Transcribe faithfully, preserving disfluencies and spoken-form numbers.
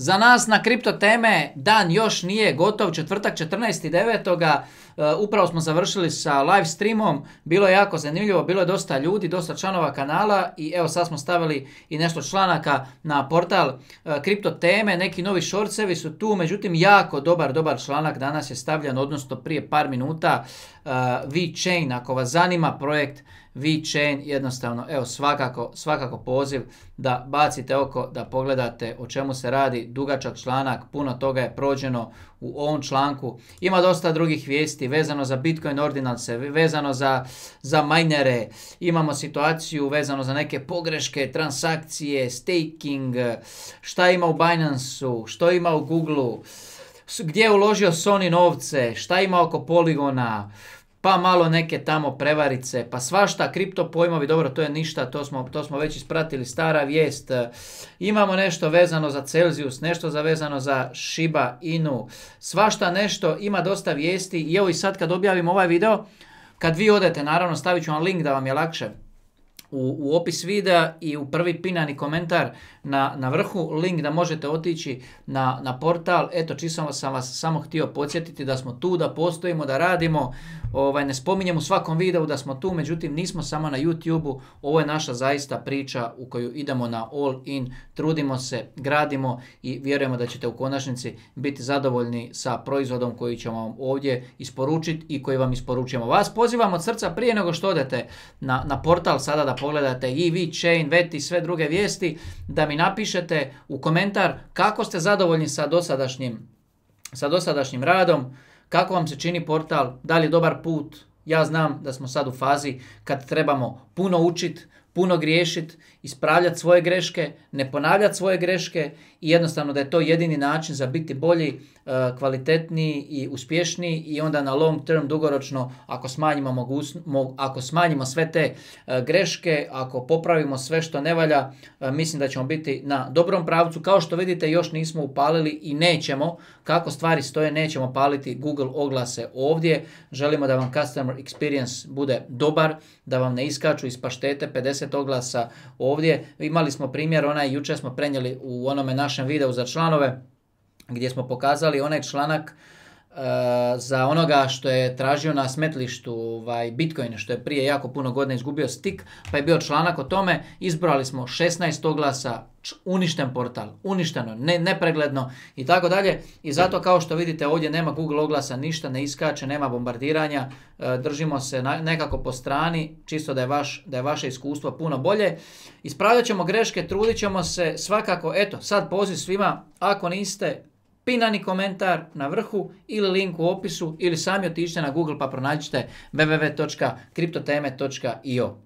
Za nas na Kripto teme dan još nije gotov, četvrtak četrnaesti devetog Uh, upravo smo završili sa live streamom, bilo je jako zanimljivo, bilo je dosta ljudi, dosta članova kanala i evo sad smo stavili i nešto članaka na portal uh, Kripto teme, neki novi shortsevi su tu, međutim jako dobar, dobar članak danas je stavljen, odnosno prije par minuta, uh, VeChain, ako vas zanima projekt VeChain, jednostavno, evo svakako, svakako poziv da bacite oko, da pogledate o čemu se radi, dugačak članak, puno toga je prođeno u ovom članku, ima dosta drugih vijesti vezano za Bitcoin ordinalce, vezano za, za minere, imamo situaciju vezano za neke pogreške, transakcije, staking, šta ima u Binance-u, što ima u Google-u, gdje je uložio Sony novce, šta ima oko Polygona, pa malo neke tamo prevarice, pa svašta, kripto pojmovi, dobro, to je ništa, to smo, to smo već ispratili, stara vijest. Imamo nešto vezano za Celsius, nešto za vezano za Shiba Inu, svašta nešto, ima dosta vijesti i evo i sad kad objavim ovaj video, kad vi odete, naravno stavit ću vam link da vam je lakše, U, u opis videa i u prvi pinani komentar na, na vrhu link da možete otići na, na portal. Eto, čisto sam vas samo htio podsjetiti da smo tu, da postojimo, da radimo. Ovaj, ne spominjem u svakom videu da smo tu, međutim nismo samo na YouTube-u. Ovo je naša zaista priča u koju idemo na all in, trudimo se, gradimo i vjerujemo da ćete u konačnici biti zadovoljni sa proizvodom koji ćemo vam ovdje isporučiti i koji vam isporučujemo. Vas pozivam od srca prije nego što odete na, na portal sada da pogledate i VeChain, Veti i sve druge vijesti, da mi napišete u komentar kako ste zadovoljni sa dosadašnjim, sa dosadašnjim radom, kako vam se čini portal, da li je dobar put. Ja znam da smo sad u fazi kad trebamo puno učiti, puno griješiti, ispravljati svoje greške, ne ponavljati svoje greške i jednostavno da je to jedini način za biti bolji, kvalitetniji i uspješniji i onda na long term, dugoročno, ako smanjimo, mogus, mo, ako smanjimo sve te greške, ako popravimo sve što ne valja, mislim da ćemo biti na dobrom pravcu. Kao što vidite, još nismo upalili i nećemo, kako stvari stoje, nećemo paliti Google oglase ovdje. Želimo da vam customer experience bude dobar, da vam ne iskaču iz paštete pedeset oglasa ovdje. Imali smo primjer, onaj jučer smo prenijeli u onome našem videu za članove, gdje smo pokazali onaj članak uh, za onoga što je tražio na smetlištu ovaj, Bitcoin, što je prije jako puno godina izgubio stik, pa je bio članak o tome, izbrali smo šesnaest oglasa, uništen portal, uništeno, ne, nepregledno i tako dalje. I zato kao što vidite ovdje nema Google oglasa, ništa ne iskače, nema bombardiranja, uh, držimo se na, nekako po strani, čisto da je, vaš, da je vaše iskustvo puno bolje. Ispravljat ćemo greške, trudit ćemo se svakako, eto, sad poziv svima, ako niste, pinani komentar na vrhu ili link u opisu ili sami otiđite na Google pa pronađite w w w točka kriptoteme točka i o.